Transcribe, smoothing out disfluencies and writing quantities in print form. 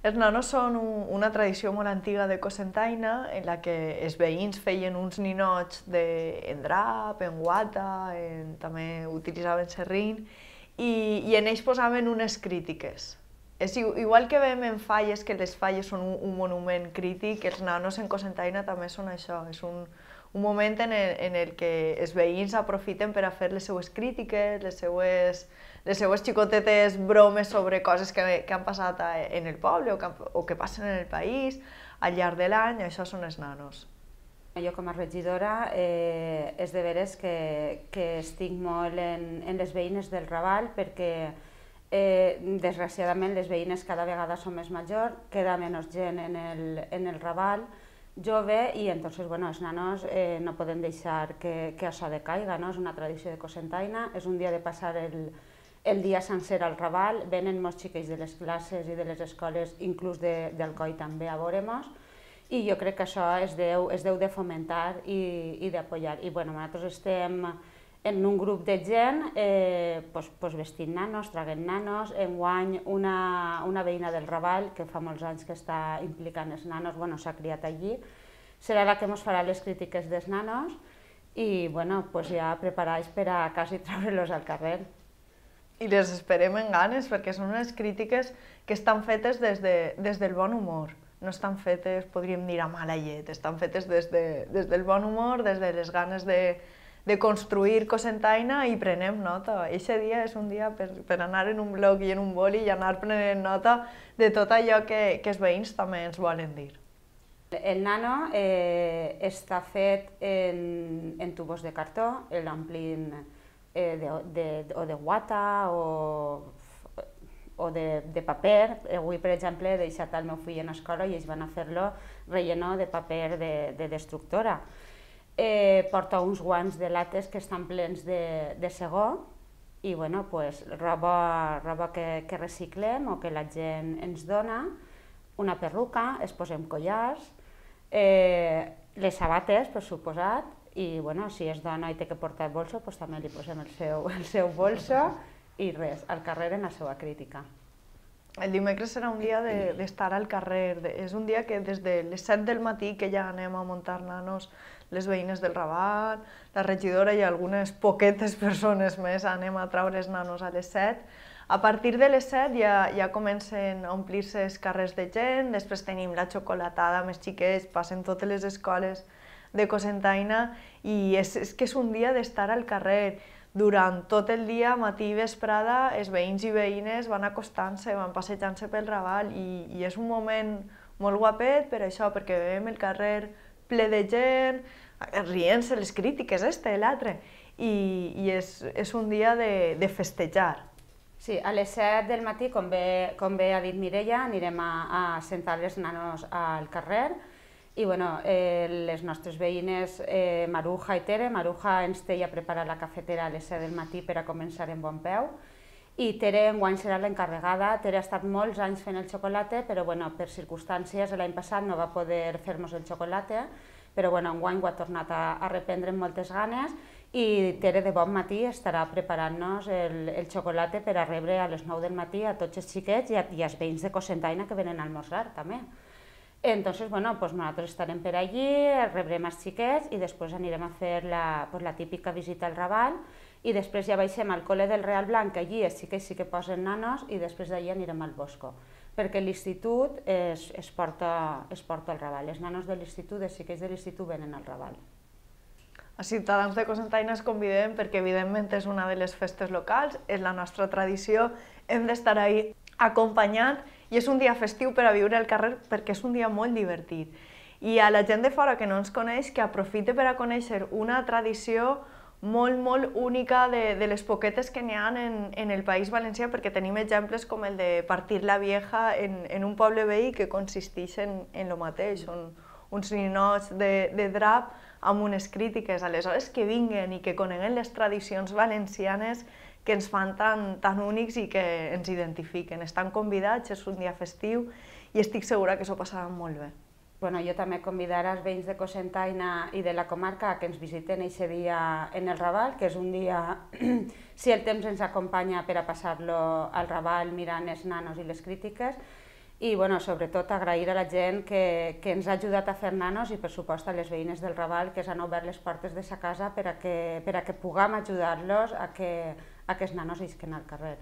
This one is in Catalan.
Els nanos són una tradició molt antiga de Cocentaina en la que els veïns feien uns ninots en drap, en guata, també utilitzaven serrín i en ells posaven unes crítiques. És igual que veiem en falles, que les falles són un monument crític, els nanos en Cocentaina també són això, és un moment en el que els veïns aprofiten per a fer les seues crítiques, les seues xicotetes bromes sobre coses que han passat en el poble o que passen en el país al llarg de l'any, això són els nanos. Jo com a regidora és de veres que estic molt en les veïnes del Raval perquè desgraciadament les veïnes cada vegada són més majors, queda menys gent en el Raval jove i entonces, bueno, els nanos no poden deixar que això decaiga, no? És una tradició de Cocentaina, és un dia de passar el dia sencer al Raval, venen molts xiquets de les classes i de les escoles, inclús del COI també a veure-mos, i jo crec que això es deu de fomentar i d'apoyar. I bueno, nosaltres estem en un grup de gent vestint nanos, traguent nanos. Enguany una veïna del Raval, que fa molts anys que està implicant els nanos, s'ha criat allí, serà la que ens farà les crítiques dels nanos i ja preparats per a quasi treure-los al carrer. I les esperem amb ganes perquè són unes crítiques que estan fetes des del bon humor. No estan fetes, podríem dir, a mala llet, estan fetes des del bon humor, des de les ganes de construir Cocentaina i prenem nota. Eixe dia és un dia per anar en un bloc i en un boli i anar prenent nota de tot allò que els veïns també ens volen dir. El nano està fet en tubos de cartó, l'omplim o de guata o de paper. Avui, per exemple, he deixat el meu fill en escola i ells van a fer-lo relleno de paper de destructora. Porta uns guants de lates que estan plens de segó i roba que reciclem o que la gent ens dona, una perruca, es posem collars, les sabates, per suposat, i si és dona i té que portar bolso, també li posem el seu bolso i res, al carrer en la seva crítica. El dimecres serà un dia d'estar al carrer, és un dia que des de les 7 del matí que ja anem a muntar nanos les veïnes del Raval, la regidora i algunes poquetes persones més anem a treure els nanos a les 7. A partir de les 7 ja comencen a omplir-se els carrers de gent, després tenim la xocolatada amb els xiquets, passen totes les escoles de Cocentaina i és que és un dia d'estar al carrer. Durant tot el dia, matí i vesprada, els veïns i veïnes van acostant-se, van passejant-se pel Raval i és un moment molt guapet per això, perquè veiem el carrer ple de gent, rient-se les crítiques, l'altre, i és un dia de festejar. Sí, a les 7 del matí, com bé ha dit Mireia, anirem a sentar els nanos al carrer i les nostres veïnes Maruja i Tere, Maruja ens té ja preparat la cafetera a les 7 del matí per a començar en bon peu i Tere enguany serà l'encarregada. Tere ha estat molts anys fent el xocolate, però per circumstàncies l'any passat no va poder fer-nos el xocolate, però enguany ho ha tornat a reprendre amb moltes ganes i Tere de bon matí estarà preparant-nos el xocolate per a rebre a les 9 del matí a tots els xiquets i als veïns de Cocentaina que venen a almorzar també. Entonces, nosaltres estarem per allí, rebrem els xiquets i després anirem a fer la típica visita al Raval i després ja baixem al col·le del Real Blanc, allí els xiquets sí que posen nanos i després d'allí anirem al Bosco, perquè l'institut es porta al Raval, els nanos de l'institut, els xiquets de l'institut venen al Raval. A Ciutadans de Cocentaina es convidem perquè evidentment és una de les festes locals, és la nostra tradició, hem d'estar ahí acompanyant i és un dia festiu per a viure al carrer perquè és un dia molt divertit. I a la gent de fora que no ens coneix, que aprofite per a conèixer una tradició molt única de les poquetes que n'hi ha en el País Valencià, perquè tenim exemples com el de Partir la Vieja en un poble veí que consisteix en el mateix, són uns ninots de drap amb unes crítiques. Aleshores, que vinguen i que coneguen les tradicions valencianes que ens fan tan únics i que ens identifiquen. Estan convidats, és un dia festiu i estic segura que s'ho passaran molt bé. Jo també convidaré els veïns de Cocentaina i de la comarca que ens visiten aquest dia en el Raval, que és un dia, si el temps ens acompanya, per a passar-lo al Raval mirant els nanos i les crítiques. i sobretot agrair a la gent que ens ha ajudat a fer nanos i per supost a les veïnes del Raval que s'han obert les portes de sa casa per a que puguem ajudar-los a que els nanos isquen al carrer.